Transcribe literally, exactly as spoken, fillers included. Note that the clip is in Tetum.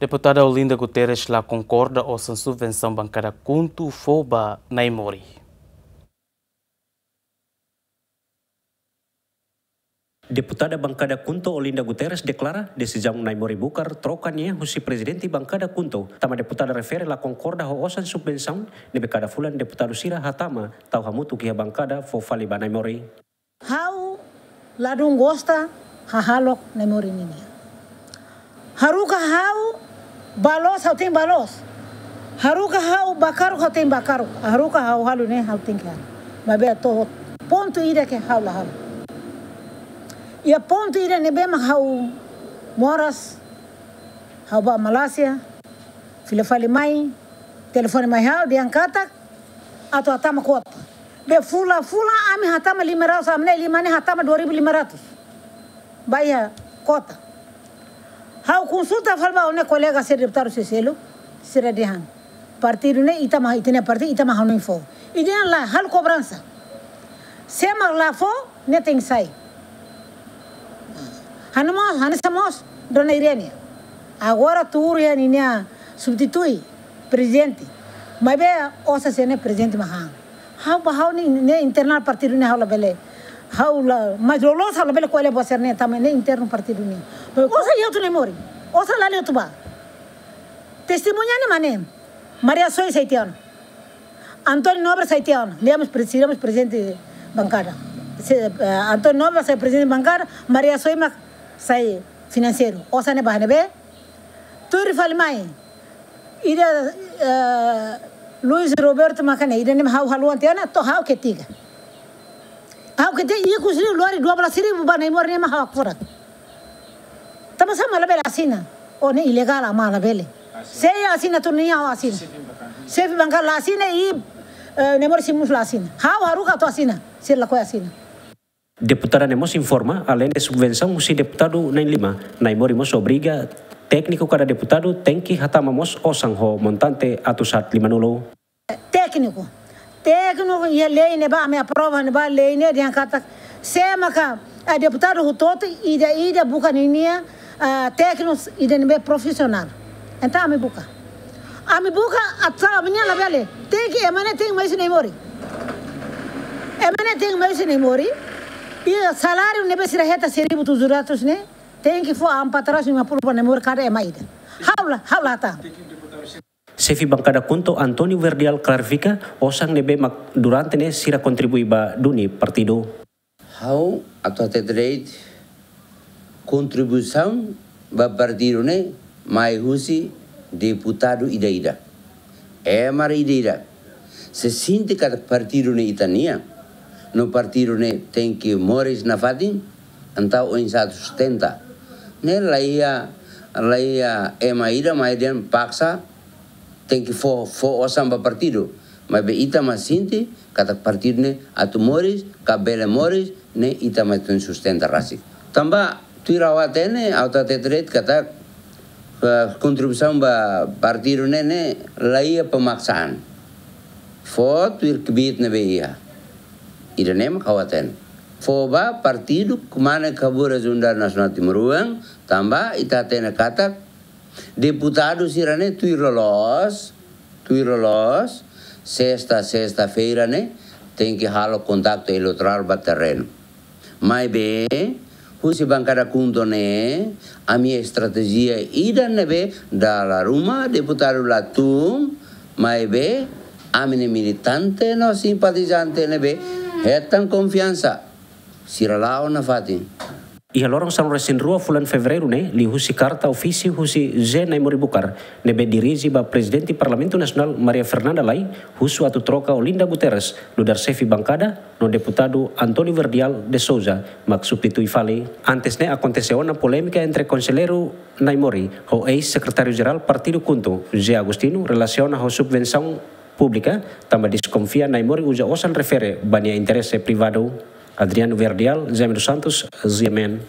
Deputada Olinda Guterres la konkorda osan subvensaun bankada KHUNTO fó ba Naimori. Deputada bankada KHUNTO Olinda Guterres deklara desizaun Naimori Bucar troka nia husi prezidente bankada KHUNTO, tanba deputada refere la konkorda ho osan subvensaun ne'ebé kada fulan deputadu sira hatama tau hamutuk iha bankada fó fali ba Naimori. Ha'u ladún gosta hahalok Naimori ninia. Haruka ha'u bá loos, ha'u tenke bá loos. Haruka ha'u bá karuk, ha'u tenke bá karuk. Haruka ha'u halo ne'e, ha'u tenke halo. Maibé to'o pontu ida ke ha'u la halo. Iha pontu ida ne'ebé mak ha'u moras, ha'u bá Malásia, fila fali mai, telefone mai ha'u, dehan katak atu hatama kuota. Be fulan-fulan ami hatama lima ratus, ami na'in-lima ne'e hatama dua ribu lima ratus. Ba iha kuota. Ha'u konsulta fali ba ha'u-nia kolega sira deputadu sira seluk, sira dehan. Partidu ne'e ita mak, ita-nia partidu, ita mak hanoin fó. Ida-ne'e la halo kobransa. Sé mak la fó, ne'e tenke sai. Hanesan mós, hanesan mós, Dona Irene. Agora tuur iha ninia substitui prezidente. Maibé osan sira-ne'e prezidente mak han. Ha'u ba ha'u-nia, ne'e internál partidu ne'e ha'u labele. Ha'u la, mas loloos ha'u labele ko'alia buat sira-ne'e tanba ne'e internu partidu nian. Maibé osan iha hotu Naimori. Osan la iha hotu bá. Testemuña ne'e mak ne'e. Maria Soy sai tiha ona. António Nobre sai tiha ona. Lia mós pre-, sira mós prezidente bankada. Se, eh, António Nobre sai prezidente bankada, Maria Soy mak sai finanseiru. Osan ne'e ba ne'ebé? Tuir fali mai. Ida, eh, Luis Roberto mak ne'e, ida-ne'e ha'u haluha tiha ona, to'o ha'u ketika. Ha'u ketika ikus liu lori dua belas ribu ba Naimori ne'e mak ha'u hakfodak. Tanba sá mak labele asina. Oh, ne'e ilegál, mak labele. Asina. Sé asina tu nia ha'u asina. Xefe bankada. Xefe bankada la asina i, eh, Naimori sira mós la asina. Ha'u haruka atu asina. Sira lakohi asina. Deputada ne'e mós informa, aleinde subvensaun husi deputadu na'in-lima, Naimori mós obriga tékniku kada deputadu tenke hatama mós osan ho montante atus haat limanulu. Tékniku. Tékniku iha lei ne'ebá, ami aprova ne'ebá, lei ne'e dehan katak, sé maka, ah, deputadu hotu-hotu ida-ida buka ninia, ah, tékniku ida ne'ebé profisionál. Entaun ami buka. Ami buka, atu ami-nia labele. Tenke, ema ne'e tenke mai husi Naimori. Ema ne'e tenke mai husi Naimori. I saláriu ne'ebé sira hetan seribu tujuh ratus ne'e, tenke fó empat ratus lima puluh ba Naimori kada ema ida. Ha'u la, ha'u la hatán. Xefe bankada KHUNTO António Verdial klarifika, osan ne'ebé mak durante ne'e sira kontribui ba duni partidu. Ha'u atu hatete de'it, kontribuisaun ba partidu ne'e mai husi deputadu ida-ida. Ema ida-ida. Se sente katak partidu ne'e ita-nian, no partidu ne'e tenke moris nafatin, entaun oinsá atu sustenta. Ne'e la iha, la iha ema ida mai dehan paksa, tenke fó, fó osan ba partidu. Maibé ita mak sente katak partidu ne'e atu moris, ka bele moris, ne'e ita mak tenke sustenta rasik. Tanba tuir ha'u hatene, ha'u hatete de'it katak, eh, kontribuisaun ba partidu ne'e, ne'e la iha pemaksaan. Fó tuir kbiit ne'ebé iha. Ida-ne'e mak ha'u hatene. Fó ba partidu Kmanek Haburas Unidade Nasionál Timoroan, tanba ita hatene katak deputadu sira-ne'e tuir loloos, tuir loloos, sesta, sesta-feira ne'e, tenke halo kontaktu eleitorál ba terrenu. Maibé, husi bankada KHUNTO ne'e, ami estratéjia ida ne'ebé dala ruma deputadu la tun, maibé, ami-nia militante no simpatizante ne'ebé hetan konfiansa. Sira la'o nafatin. Iha loron sanulu-resin-rua fulan Fevereiru ne'e, liuhusi karta ofísiu husi José Naimori Bucar, ne'ebé dirije ba Prezidente Parlamentu Nasionál Maria Fernanda Lay, husu atu troka Olinda Guterres, nu'udar xefe bankada, no deputadu António Verdial de Sousa, mak substitui fali. Antes ne'e akontese ona polémika entre konselleiru Naimori, ho eis-sekretáriu-jerál Partidu KHUNTO, José Agostinho, relasiona ho subvensaun públika, tanba deskonfia Naimori uza osan refere ba nia interese privadu. Adriano Verdial, Jaime dos Santos, G M N.